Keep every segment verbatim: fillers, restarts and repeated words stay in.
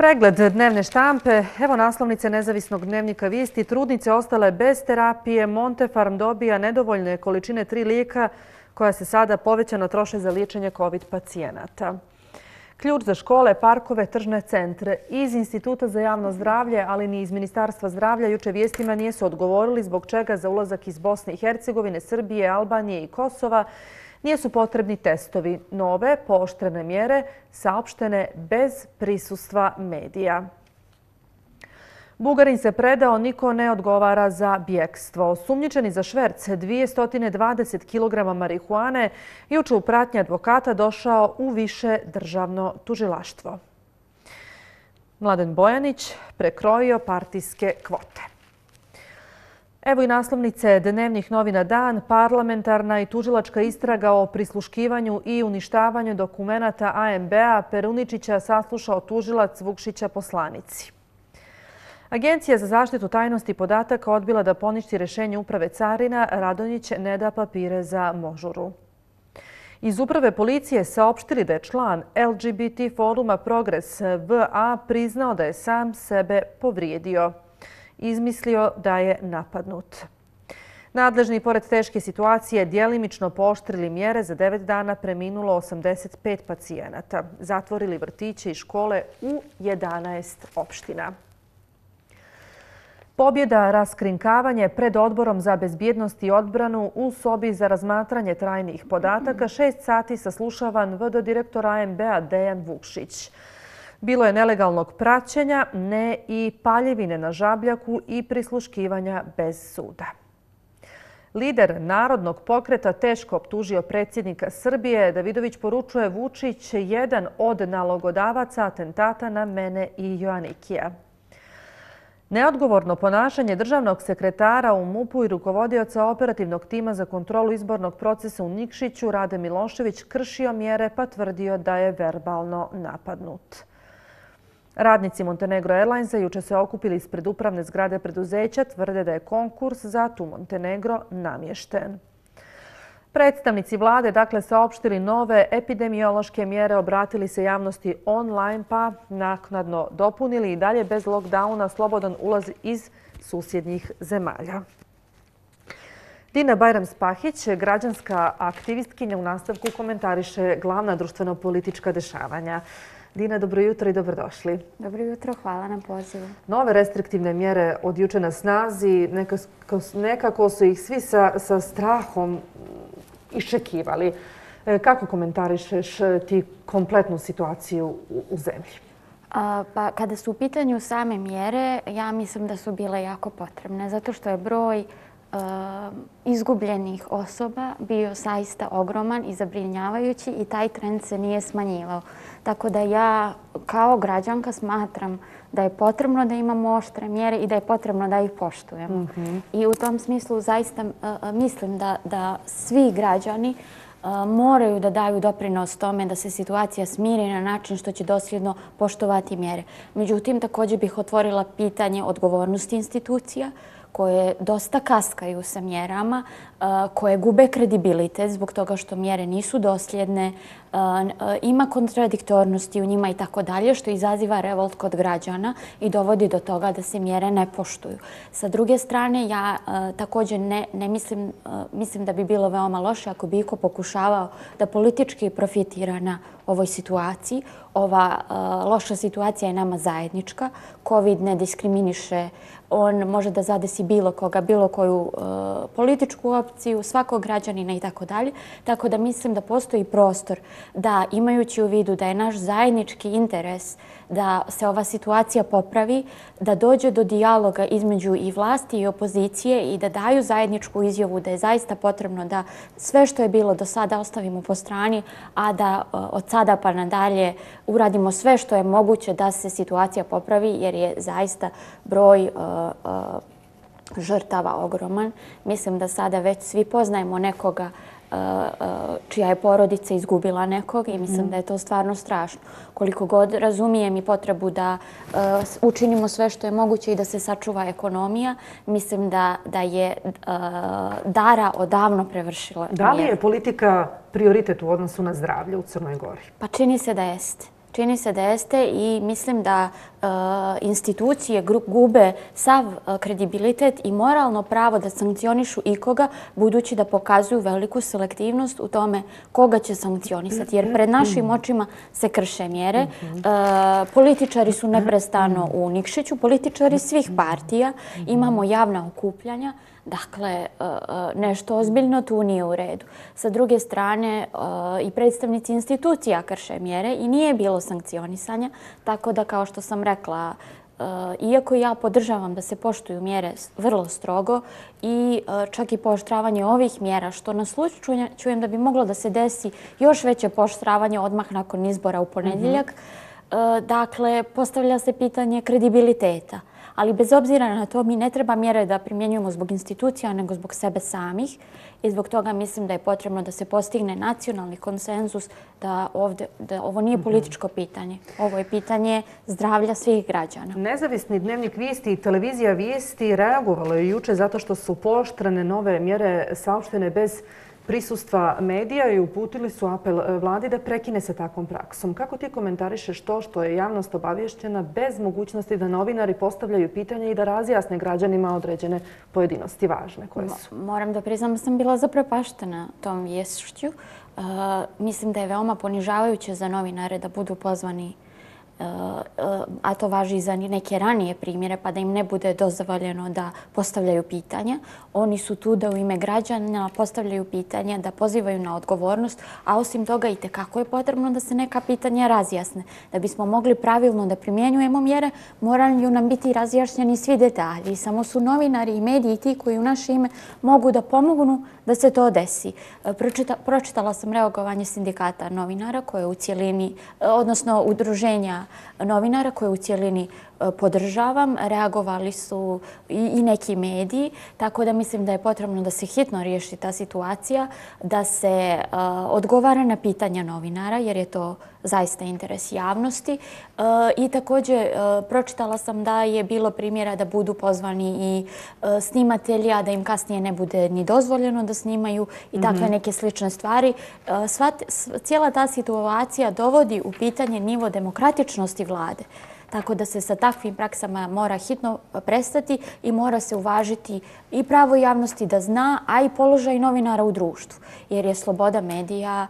Pregled dnevne štampe, evo naslovnice nezavisnog dnevnika Vijesti. Trudnice ostale bez terapije, Montefarm dobija nedovoljne količine tri lijeka koja se sada povećano troše za liječenje COVID pacijenata. Ključ za škole, parkove, tržne centre. Iz Instituta za javno zdravlje, ali ni iz Ministarstva zdravlja juče vijestima nisu odgovorili zbog čega za ulazak iz Bosne i Hercegovine, Srbije, Albanije i Kosova nisu potrebni testovi. Nove, pooštrene mjere saopštene bez prisustva medija. Bugarin se predao, niko ne odgovara za bjekstvo. Osumnjičeni za šverc dvjesto dvadeset kilograma marihuane juče u pratnji advokata došao u više državno tužilaštvo. Mladen Bojanić prekrojio partijske kvote. Evo i naslovnice dnevnih novina Dan. Parlamentarna i tužilačka istraga o prisluškivanju i uništavanju dokumenata A M B-a Peruničića saslušao tužilac, Vukšića poslanici. Agencija za zaštitu tajnosti podataka odbila da poništi rješenje uprave carina, Radonjić ne da papire za Možuru. Iz uprave policije saopštili da je član L G B T foruma Progres V A priznao da je sam sebe povrijedio. Izmislio da je napadnut. Nadležni, pored teške situacije, djelimično pooštrili mjere. Za devet dana preminulo osamdeset pet pacijenata. Zatvorili vrtiće i škole u jedanaest opština. Pobjeda, raskrinkavanje pred Odborom za bezbjednost i odbranu u sobi za razmatranje trajnih podataka. Šest sati saslušavan V D direktor A M B-a Dejan Vukšić. Bilo je nelegalnog praćenja, ne i paljevine na žabljaku i prisluškivanja bez suda. Lider Narodnog pokreta teško optužio predsjednika Srbije. Davidović poručuje: Vučić je jedan od nalogodavaca atentata na mene i Joanikija. Neodgovorno ponašanje državnog sekretara u MUP-u i rukovodioca operativnog tima za kontrolu izbornog procesa u Nikšiću, Rade Milošević, kršio mjere pa tvrdio da je verbalno napadnut. Radnici Montenegro Airlinesa juče se okupili ispred upravne zgrade preduzeća, tvrde da je konkurs za Tu Montenegro namješten. Predstavnici vlade dakle saopštili nove epidemiološke mjere, obratili se javnosti online pa naknadno dopunili i dalje bez lockdowna slobodan ulaz iz susjednih zemalja. Dina Bajram-Spahić, građanska aktivistkinja, u nastavku komentariše glavna društveno-politička dešavanja. Dina, dobro jutro i dobrodošli. Dobro jutro, hvala na pozivu. Nove restriktivne mjere od juče na snazi, nekako, nekako su ih svi sa, sa strahom iščekivali. Kako komentarišeš ti kompletnu situaciju u, u zemlji? A, pa, kada su u pitanju same mjere, ja mislim da su bile jako potrebne, zato što je broj uh, izgubljenih osoba bio zaista ogroman i zabrinjavajući i taj trend se nije smanjivao. Tako da ja kao građanka smatram da je potrebno da imamo oštre mjere i da je potrebno da ih poštujemo. Mm-hmm. I u tom smislu zaista uh, mislim da, da svi građani uh, moraju da daju doprinos tome da se situacija smiri na način što će dosljedno poštovati mjere. Međutim, također bih otvorila pitanje odgovornosti institucija koje dosta kaskaju sa mjerama, koje gube kredibilitet zbog toga što mjere nisu dosljedne, ima kontradiktornosti u njima i tako dalje, što izaziva revolt kod građana i dovodi do toga da se mjere ne poštuju. Sa druge strane, ja također ne, ne mislim, mislim da bi bilo veoma loše ako bi iko pokušavao da politički profitira na ovoj situaciji. Ova loša situacija je nama zajednička. COVID ne diskriminiše, on može da zadesi bilo koga, bilo koju uh, političku opciju, svakog građanina i tako dalje. Tako da mislim da postoji prostor da, imajući u vidu da je naš zajednički interes da se ova situacija popravi, da dođe do dijaloga između i vlasti i opozicije i da daju zajedničku izjavu da je zaista potrebno da sve što je bilo do sada ostavimo po strani, a da uh, od sada pa nadalje uradimo sve što je moguće da se situacija popravi, jer je zaista broj uh, Uh, žrtava ogroman. Mislim da sada već svi poznajemo nekoga uh, uh, čija je porodica izgubila nekog i mislim mm. da je to stvarno strašno. Koliko god razumijem i potrebu da uh, učinimo sve što je moguće i da se sačuva ekonomija, mislim da, da je uh, Dara odavno prevršila. Da li je politika prioritet u odnosu na zdravlje u Crnoj Gori? Pa čini se da jeste. Čini se da jeste i mislim da institucije gube sav kredibilitet i moralno pravo da sankcionišu ikoga, budući da pokazuju veliku selektivnost u tome koga će sankcionisati. Jer pred našim očima se krše mjere. Političari su neprestano u Nikšiću, političari svih partija. Imamo javna okupljanja. Dakle, nešto ozbiljno tu nije u redu. Sa druge strane, i predstavnici institucija krše mjere i nije bilo sankcionisanja, tako da, kao što sam rekla, iako ja podržavam da se poštuju mjere vrlo strogo i čak i pooštravanje ovih mjera, što na slučaju čujem da bi moglo da se desi još veće pooštravanje odmah nakon izbora u ponedjeljak, dakle, postavlja se pitanje kredibiliteta. Ali bez obzira na to, mi ne treba mjere da primjenjujemo zbog institucija, nego zbog sebe samih. I zbog toga mislim da je potrebno da se postigne nacionalni konsenzus da, ovdje, da ovo nije političko pitanje. Ovo je pitanje zdravlja svih građana. Nezavisni dnevnik Vijesti i televizija Vijesti reagovalo je juče zato što su pooštrene nove mjere saopštene bez prisustva medija i uputili su apel vladi da prekine sa takvom praksom. Kako ti komentarišeš to što je javnost obavještena bez mogućnosti da novinari postavljaju pitanja i da razjasne građanima određene pojedinosti važne koje su? Moram da priznam da sam bila zaprepaštena tom viješću. Mislim da je veoma ponižavajuće za novinare da budu pozvani, a to važi i za neke ranije primjere, pa da im ne bude dozvoljeno da postavljaju pitanja. Oni su tu da u ime građana postavljaju pitanja, da pozivaju na odgovornost, a osim toga i tekako je potrebno da se neka pitanja razjasne. Da bismo mogli pravilno da primjenjujemo mjere, moraju nam biti razjašnjeni svi detalji. Samo su novinari i mediji ti koji u naše ime mogu da pomognu da se to desi. Pročita, pročitala sam reagovanje sindikata novinara koje u cijelini, odnosno udruženja novinara koje u cijelini podržavam. Reagovali su i neki mediji, tako da mislim da je potrebno da se hitno riješi ta situacija, da se odgovara na pitanja novinara, jer je to zaista interes javnosti. I također pročitala sam da je bilo primjera da budu pozvani i snimatelji, a da im kasnije ne bude ni dozvoljeno da snimaju i takve neke slične stvari. Cijela ta situacija dovodi u pitanje nivo demokratičnosti vlade. Tako da se sa takvim praksama mora hitno prestati i mora se uvažiti i pravo javnosti da zna, a i položaj novinara u društvu. Jer je sloboda medija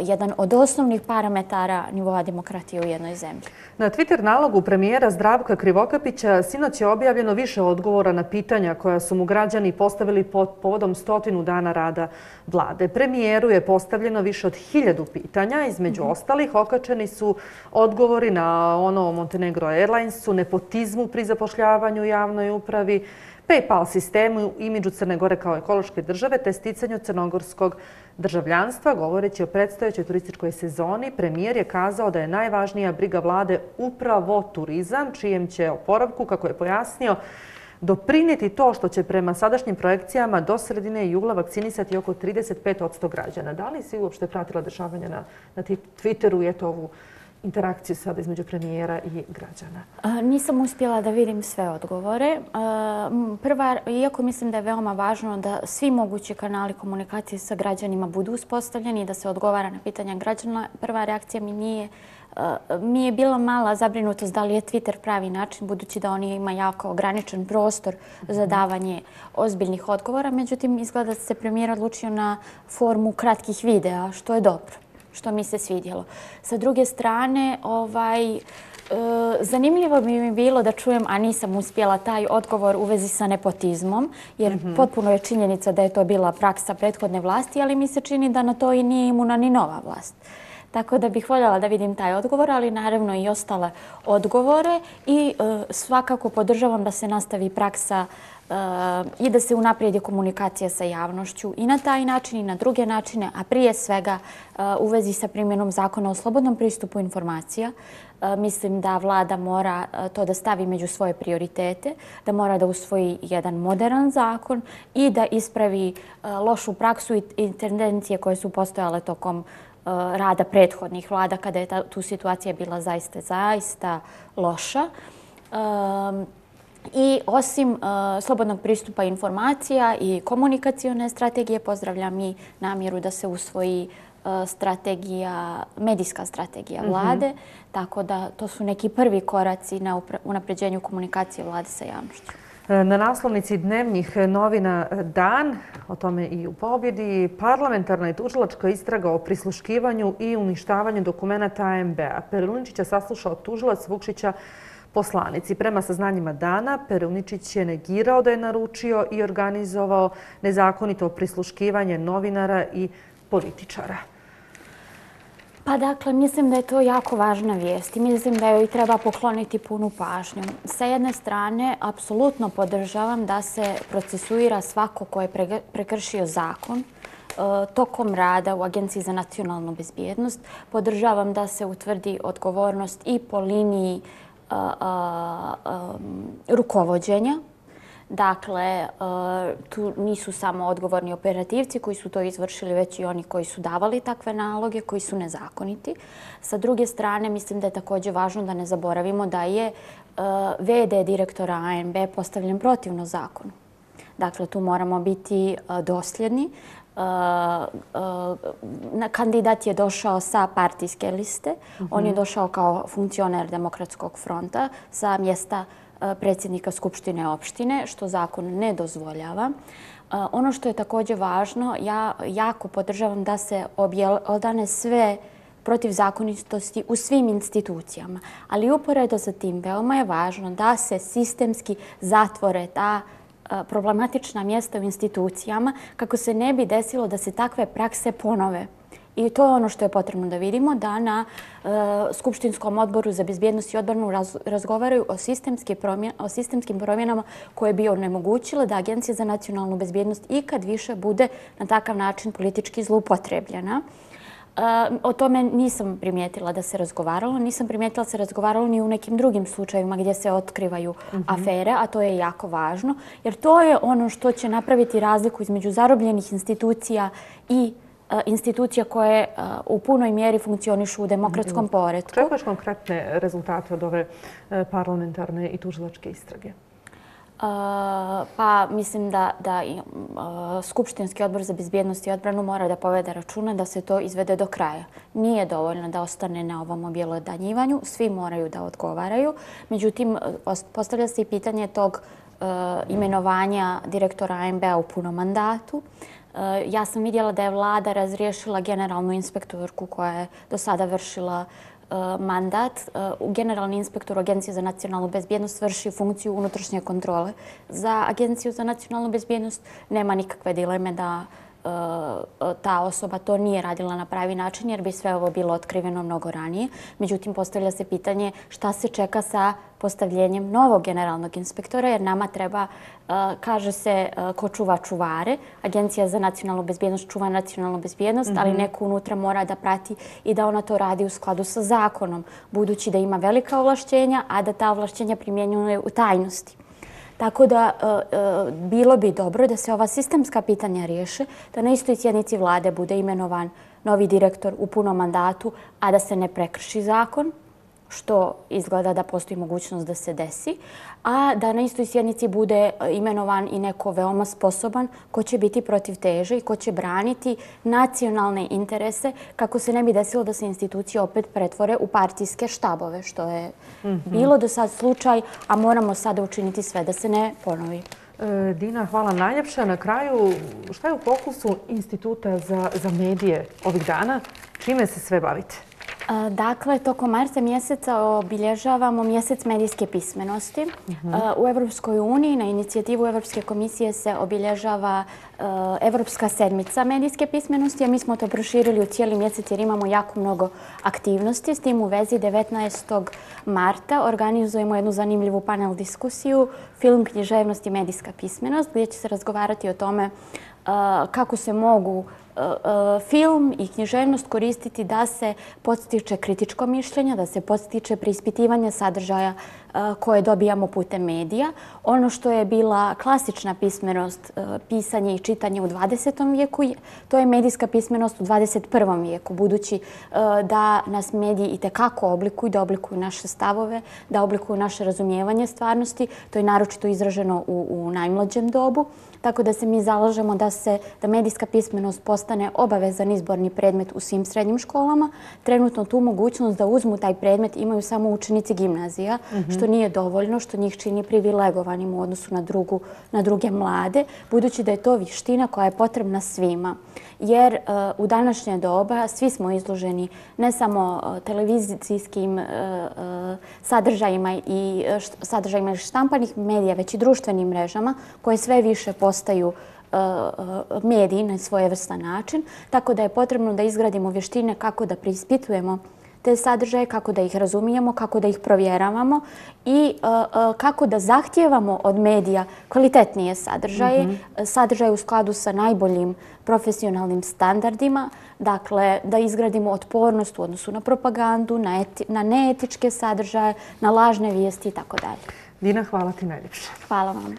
jedan od osnovnih parametara nivoa demokratije u jednoj zemlji. Na Twitter nalogu premijera Zdravka Krivokapića sinoć je objavljeno više odgovora na pitanja koja su mu građani postavili pod povodom stotinu dana rada vlade. Premijeru je postavljeno više od hiljadu pitanja. Između ostalih okačeni su odgovori na ono o Montenegro Airlinesu, nepotizmu pri zapošljavanju u javnoj upravi, PayPal sistemu, imidžu Crne Gore kao ekološke države te sticanju crnogorskog državljanstva. Govoreći o predstojećoj turističkoj sezoni, premijer je kazao da je najvažnija briga vlade upravo turizam, čijem će oporavku, kako je pojasnio, doprinijeti to što će prema sadašnjim projekcijama do sredine jula vakcinisati oko trideset pet posto građana. Da li si uopšte pratila dešavanja na, na Twitteru i eto ovu interakciju sada između premijera i građana? Nisam uspjela da vidim sve odgovore. Prva, iako mislim da je veoma važno da svi mogući kanali komunikacije sa građanima budu uspostavljeni i da se odgovara na pitanja građana, prva reakcija mi nije mi je bila mala zabrinutost da li je Twitter pravi način, budući da on ima jako ograničen prostor za davanje ozbiljnih odgovora. Međutim, izgleda da se premijer odlučio na formu kratkih videa, što je dobro, što mi se svidjelo. Sa druge strane, ovaj, e, zanimljivo bi mi bilo da čujem, a nisam uspjela, taj odgovor u vezi sa nepotizmom, jer mm-hmm. potpuno je činjenica da je to bila praksa prethodne vlasti, ali mi se čini da na to i nije imuna ni nova vlast. Tako da bih voljela da vidim taj odgovor, ali naravno i ostale odgovore i e, svakako podržavam da se nastavi praksa e, i da se unaprijedi komunikacija sa javnošću i na taj način i na druge načine, a prije svega e, u vezi sa primjenom zakona o slobodnom pristupu informacija. E, mislim da vlada mora to da stavi među svoje prioritete, da mora da usvoji jedan moderan zakon i da ispravi e, lošu praksu i, i tendencije koje su postojale tokom rada prethodnih vlada kada je ta, tu situacija bila zaista, zaista loša. Um, I osim uh, slobodnog pristupa informacija i komunikacione strategije, pozdravljam i namjeru da se usvoji strategija, medijska strategija vlade, tako da to su neki prvi koraci na unapređenju komunikacije vlade sa javnošću. Na naslovnici dnevnih novina Dan, o tome i u Pobjedi, parlamentarna i tužilačka istraga o prisluškivanju i uništavanju dokumenata A M B-a. Peruničića saslušao tužilac, Vukšića poslanici. Prema saznanjima Dana, Peruničić je negirao da je naručio i organizovao nezakonito prisluškivanje novinara i političara. Pa dakle, mislim da je to jako važna vijest i mislim da joj treba pokloniti punu pažnju. Sa jedne strane, apsolutno podržavam da se procesuira svako ko je prekršio zakon tokom rada u Agenciji za nacionalnu bezbjednost. Podržavam da se utvrdi odgovornost i po liniji rukovođenja. Dakle, tu nisu samo odgovorni operativci koji su to izvršili, već i oni koji su davali takve naloge, koji su nezakoniti. Sa druge strane, mislim da je također važno da ne zaboravimo da je V D direktora A M B postavljen protivno zakonu. Dakle, tu moramo biti dosljedni. Kandidat je došao sa partijske liste. On je došao kao funkcioner Demokratskog fronta sa mjesta predsjednika Skupštine opštine, što zakon ne dozvoljava. Ono što je također važno, ja jako podržavam da se objelodane sve protivzakonitosti u svim institucijama. Ali uporedo sa tim veoma je važno da se sistemski zatvore ta problematična mjesta u institucijama kako se ne bi desilo da se takve prakse ponove. I to je ono što je potrebno da vidimo, da na Skupštinskom odboru za bezbjednost i odbranu razgovaraju o sistemskim promjenama koje bi onemogućile da Agencija za nacionalnu bezbjednost ikad više bude na takav način politički zloupotrebljena. O tome nisam primijetila da se razgovaralo. Nisam primijetila da se razgovaralo ni u nekim drugim slučajevima gdje se otkrivaju afere, a to je jako važno, jer to je ono što će napraviti razliku između zarobljenih institucija i institucija koje u punoj mjeri funkcionišu u demokratskom poretku. Čekaš konkretne rezultate od ove parlamentarne i tužilačke istrage? Pa mislim da Skupštinski odbor za bezbjednost i odbranu mora da povede računa da se to izvede do kraja. Nije dovoljno da ostane na ovom objelodanjivanju, svi moraju da odgovaraju. Međutim, postavlja se i pitanje tog imenovanja direktora A M B-a u punom mandatu. Ja sam vidjela da je vlada razriješila generalnu inspektorku koja je do sada vršila mandat. Generalni inspektor Agencije za nacionalnu bezbjednost vrši funkciju unutrašnje kontrole. Za Agenciju za nacionalnu bezbjednost nema nikakve dileme da ta osoba to nije radila na pravi način jer bi sve ovo bilo otkriveno mnogo ranije. Međutim, postavlja se pitanje šta se čeka sa postavljenjem novog generalnog inspektora jer nama treba, kaže se, ko čuva čuvare. Agencija za nacionalnu bezbjednost čuva nacionalnu bezbjednost, ali neko unutra mora da prati i da ona to radi u skladu sa zakonom, budući da ima velika ovlašćenja, a da ta ovlašćenja primjenjuje u tajnosti. Tako da bilo bi dobro da se ova sistemska pitanja riješe, da na istoj sjednici vlade bude imenovan novi direktor u punom mandatu, a da se ne prekrši zakon, što izgleda da postoji mogućnost da se desi, a da na istoj sjednici bude imenovan i neko veoma sposoban ko će biti protiv teže i ko će braniti nacionalne interese kako se ne bi desilo da se institucije opet pretvore u partijske štabove, što je bilo do sad slučaj, a moramo sada učiniti sve da se ne ponovi. Dina, hvala najljepša. Na kraju, šta je u fokusu Instituta za medije ovih dana? Čime se sve bavite? Dakle, tokom marta mjeseca obilježavamo mjesec medijske pismenosti. U Evropskoj uniji na inicijativu Evropske komisije se obilježava Evropska sedmica medijske pismenosti, a mi smo to proširili u cijeli mjesec jer imamo jako mnogo aktivnosti. S tim u vezi devetnaestog marta organizujemo jednu zanimljivu panel diskusiju Film, književnost i medijska pismenost, gdje će se razgovarati o tome kako se mogu film i književnost koristiti da se podstiče kritičko mišljenje, da se podstiče preispitivanje sadržaja koje dobijamo putem medija. Ono što je bila klasična pismenost, pisanje i čitanje u dvadesetom vijeku, to je medijska pismenost u dvadeset prvom vijeku, budući da nas mediji itekako oblikuju, da oblikuju naše stavove, da oblikuju naše razumijevanje stvarnosti. To je naročito izraženo u, u najmlađem dobu. Tako da se mi zalažemo da se da medijska pismenost postane obavezan izborni predmet u svim srednjim školama. Trenutno tu mogućnost da uzmu taj predmet imaju samo učenici gimnazija, mm-hmm. što nije dovoljno, što njih čini privilegovanim u odnosu na, drugu, na druge mlade, budući da je to vještina koja je potrebna svima. Jer uh, u današnje doba svi smo izloženi ne samo uh, televizijskim uh, uh, sadržajima i uh, sadržajima štampanih medija, već i društvenim mrežama koje sve više postaju uh, uh, mediji na svojevrstan način. Tako da je potrebno da izgradimo vještine kako da preispitujemo te sadržaje, kako da ih razumijemo, kako da ih provjeravamo i uh, uh, kako da zahtijevamo od medija kvalitetnije sadržaje, mm-hmm. sadržaje u skladu sa najboljim profesionalnim standardima, dakle da izgradimo otpornost u odnosu na propagandu, na, eti, na neetičke sadržaje, na lažne vijesti i tako dalje. Dina, hvala ti najljepše. Hvala vam.